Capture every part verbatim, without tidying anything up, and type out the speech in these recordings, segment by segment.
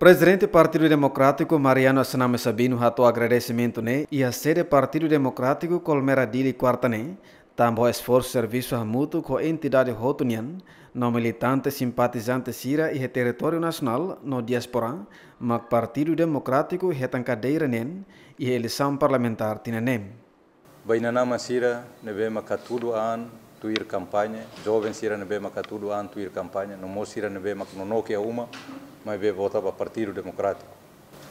Prezidente Partidu Demokrátiku, Mariano Assanami Sabino, hato'o agradesimentu ne'e iha sede Partidu Demokrátiku Colmera Dili, kuarta ne'e, tanba esforsu servisu hamutuk ho entidade hotu nian, no militante simpatizante sira iha territóriu nasionál no diáspora, mak Partidu Demokrátiku hetan kadeira neen iha eleisaun parlamentár tinan ne'e. Ba inan-aman sira ne'ebé maka hatudu an tuir kampaña, joven sira ne'ebé maka hatudu an tuir kampaña, no mós sira ne'ebé maka nonook iha uma, maibé vota ba Partidu Demokrátiku.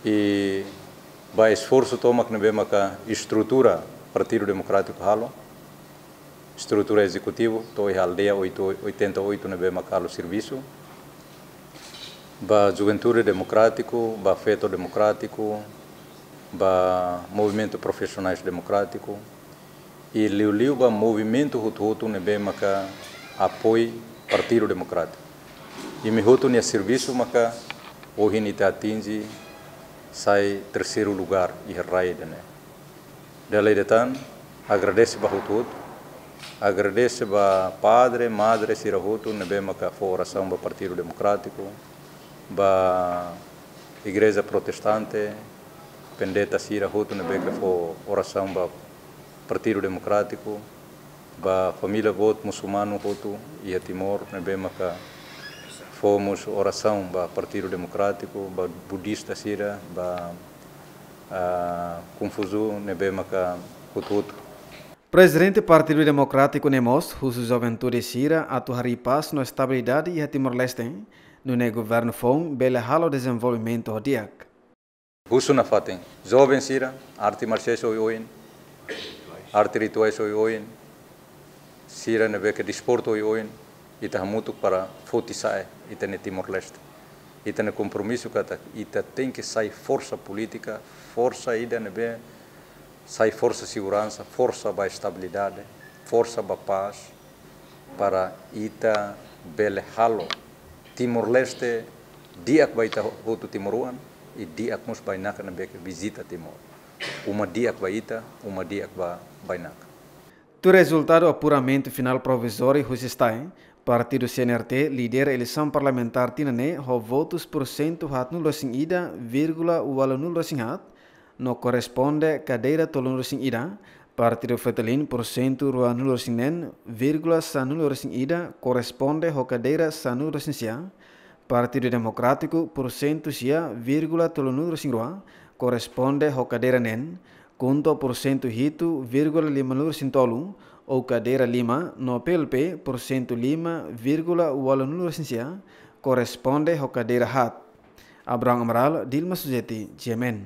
I ba esforsu tomak ne'ebé maka estrutura Partidu Demokrátiku halo, estrutura ezekutivu, to'o iha aldeia oito, oitenta e oito ne'ebé maka halo servisu, ba Juventude Demokrátiku, ba Feto Demokrátiku, ba Movimentu Profisionais Demokrátiku, i liuliu ba movimentu hotu-hotu ne'ebé maka apoiu Partidu Demokrátiku. Imi hotu nia servisu maka ohin ita atinje sai terseiru lugár iha rai ida-ne'e. Dala ida tan, agradese ba hotu-hotu, agradese ba padre, madre sira hotu ne'ebé maka fó orasaun ba Partidu Demokrátiku, ba Igreja Protestante, pendeta sira hotu ne'ebé ke fó orasaun ba Partidu Demokrátiku, ba família boot musulmanu hotu iha Timor ne'ebé maka fó mós orasaun ba Partidu Demokrátiku, ba budista sira, ba, ah, Konfusiu ne'ebé maka hotu-hotu. Prezidente Partidu Demokrátiku ne'e mós husu juventude sira atu harii pás no estabilidade iha Timor-Leste, nune'e governu foun bele halo dezenvolvimentu ho di'ak. Husu nafatin, joven sira, arte marsiais oioin, arte rituais oioin, sira ne'ebé ke desportu oioin, ita hamutuk para foti sa'e ita-nia Timor-Leste. Ita-nia kompromisu katak ita tenke sai forsa polítika, forsa ida ne'ebé sai forsa seguransa, forsa ba estabilidade, forsa ba pás, para ita bele halo Timor-Leste di'ak ba ita hotu timoroan, i di'ak mós ba bainaka ne'ebé ke vizita Timor. Uma di'ak ba ita, uma di'ak ba bainaka. Tuir rezultadu apuramentu finál provizóriu husi STAE, partidu C N R T lidera eleisaun parlamentár tinan ne'e ho votus pursentu haatnulu-resin-ida vírgula ualunulu-resin-haat, no korresponde kadeira tolunulu-resin-ida, partidu Fretilin pursentu ruanulu-resin-neen vírgula sanulu-resin-ida, korresponde ho kadeira sanulu-resin-sia, Partidu Demokrátiku pursentu sia vírgula tolunulu-resin-rua, korresponde ho kadeira neen, KHUNTO pursentu hitu vírgula limanulu-resin-tolu, ou kadeira lima, no P L P pursentu lima vírgula ualunulu-resin-sia, korresponde ho kadeira haat. Abraham Amaral, Dilma Suzeti, G M N.